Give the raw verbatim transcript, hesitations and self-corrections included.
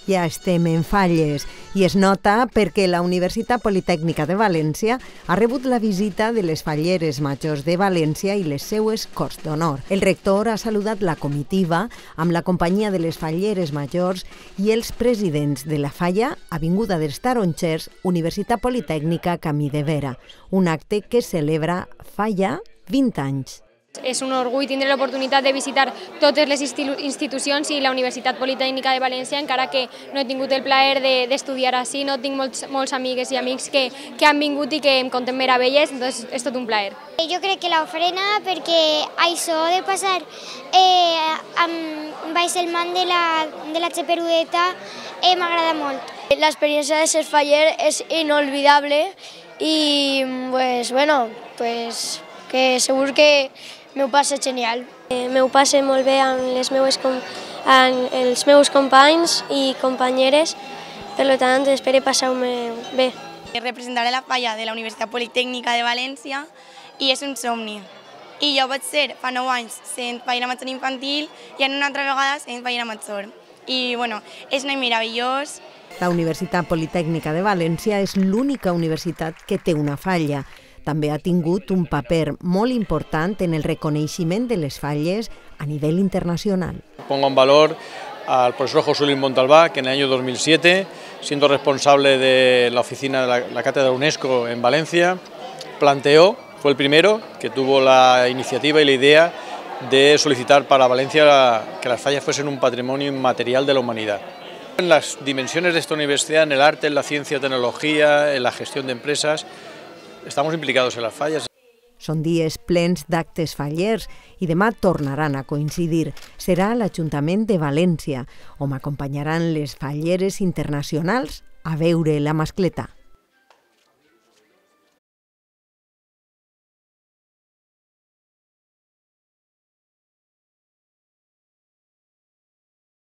Ja estem en falles i es nota perquè la Universitat Politècnica de València ha rebut la visita de les falleres majors de València i les seues Corts d'Honor. El rector ha saludat la comitiva amb la companyia de les falleres majors i els presidents de la falla Avinguda dels Tarongers, Universitat Politècnica Camí de Vera, un acte que celebra fa ja vint anys. És un orgull tindre l'oportunitat de visitar totes les institucions i la Universitat Politècnica de València, encara que no he tingut el plaer d'estudiar així, no tinc molts, molts amigues i amics que, que han vingut i que em conten meravelles, doncs és tot un plaer. Jo crec que l'ofrena, perquè això de passar eh, amb baix el man de la, de la Xeperudeta eh, m'agrada molt. L'experiència de ser faller és inolvidable i, pues, bueno, pues, que segur que m'ho passa genial. M'ho passe molt bé amb, les meues, amb els meus companys i companyeres, per tant espero passar-me bé. Representaré la falla de la Universitat Politècnica de València i és un somni. I jo vaig ser fa nou anys sent fallera major infantil i en una altra vegada sent fallera major. I bueno, és un any meravellós. La Universitat Politècnica de València és l'única universitat que té una falla. També ha tingut un paper molt important en el reconeixement de les falles a nivell internacional. Pongo en valor al profesor José Luis Montalbá, que en el año dos mil siete, siendo responsable de la oficina de la, la Cátedra UNESCO en Valencia, planteó, fue el primero que tuvo la iniciativa y la idea de solicitar para Valencia que las fallas fuesen un patrimonio inmaterial de la humanidad. En las dimensiones de esta universidad, en el arte, en la ciencia, tecnología, en la gestión de empresas, estamos implicados en las fallas. Són dies plens d'actes fallers i demà tornaran a coincidir. Serà l'Ajuntament de València, on m'acompanyaran les falleres internacionals a veure la mascleta.